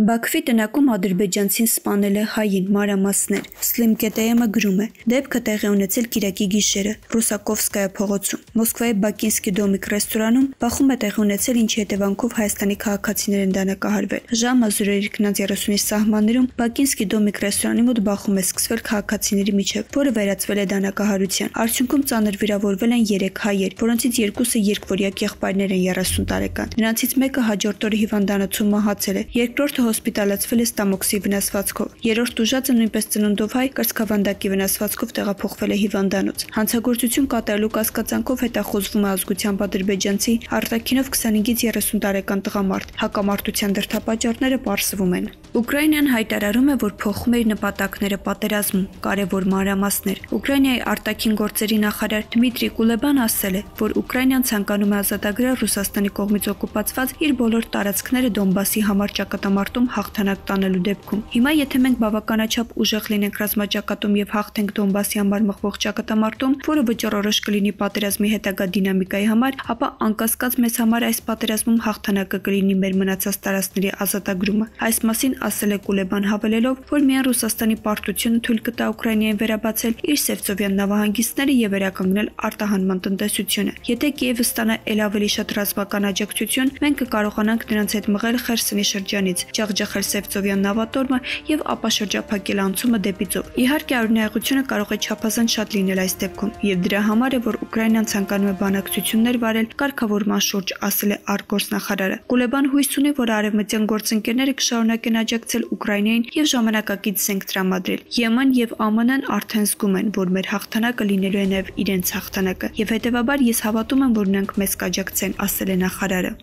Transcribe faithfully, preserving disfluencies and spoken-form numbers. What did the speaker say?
Բաքվի տնակում ադրբեջանցին սպանել է հային մանրամասներ։ Սլիմկետեյեմը գրում է. դեպքը տեղի ունեցել կիրակի գիշերը Ռուսակովսկայա փողոցում։ Մոսկվայի Բակինսկի դոմիկ ռեստորանում բախում է տեղի ունեցել, ինչի հետևանքով Հայաստանի քաղաքացիներ են դանակահարվել։ Ժամը զուրերի քնած երեսունի սահմաններում Բակինսկի դոմիկ ռեստորանի մոտ բախում է սկսվել քաղաքացիների միջև, որը վերածվել է դանակահարության։ Արդյունքում ծանր վիրավորվել են երեք հայեր, որոնցից երկուսը երկվորյակ եղբայրներ են երեսուն տարեկան։ Նրանցից մեկը հաջորդ օրը հիվանդանոցում մահացել է, երկրորդը հոսպիտալացվել է ստամոքսի վնասվածքով։ Երրորդ ուժածը նույնպես ծնունդով հայ կրծքավանդակի վնասվածքով տեղափոխվել է հիվանդանոց։ Հանցագործություն կատարելու կասկածանքով հետախուզվում է ազգությամբ ադրբեջանցի արտաքինով քսանհինգից երեսուն տարեկան տղամարդ։ Հակամարտության դրդապատճառները պարզվում են։ Ուկրաինան հայտարարում է, որ փոխում է իր նպատակները պատերազմում։ Կարևոր մանրամասներ։ Ուկրաինայի արտաքին գործերի նախարար Դմիտրի Կուլեբան ասել է, որ Ուկրաինան ցանկանում է ազատագրել Ռուսաստանի կողմից օկուպացված իր բոլոր տարածքները Դոնբասի համար ճակատամարտում հաղթանակ տանելու դեպքում։ Հիմա եթե մենք բավականաչափ ուժեղ լինենք ռազմաճակատում եւ հաղթենք Դոնբասի համար մղվող ճակատամարտում, որը վճռորոշ կլինի պատերազմի հետագա դինամիկայի համար, ապա անկասկած մեզ համար այս պատերազմում հաղթանակը կլինի մեր մնացած տարածքների ազատագրումը։ Այս մասին ասել է Կուլեբան, հավելելով, որ միայն Ռուսաստանի պարտությունը թույլ կտա Ուկրաինային վերաբացել իր Սևծովյան նավահանգիստները եւ վերականգնել արտահանման տնտեսությունը։ Եթե Կիևը ստանա ել ավելի շատ ռազմական աջակցություն, մենք կկարողանանք նրանց հետ մղել Խերսոնի շրջանից, ջախջախել Սևծովյան նավատորմը եւ ապա շրջափակել անցումը դեպի ծով։ Իհարկե, արյունահեղությունը կարող է չափազանց շատ լինել այս դեպքում, եւ դրա համար է, որ Ուկրաինան ցանկանում է բանակցություններ վարել կարգավորման շուրջ, ասել է արտգործնախարարը։ Կուլեբան հույս ունի, որ արևմտյան գործընկերները կշարունակեն աջակցել Ուկրաինային եւ ժամանակակից զենք տրամադրել։ Եմեն եւ ԱՄՆ-ն արդեն զգում են, որ մեր հաղթանակը լինելու է նաեւ իրենց հաղթանակը, եւ հետեւաբար ես հավատում եմ, որ նրանք մեզ կաջակցեն, ասել է նախարարը։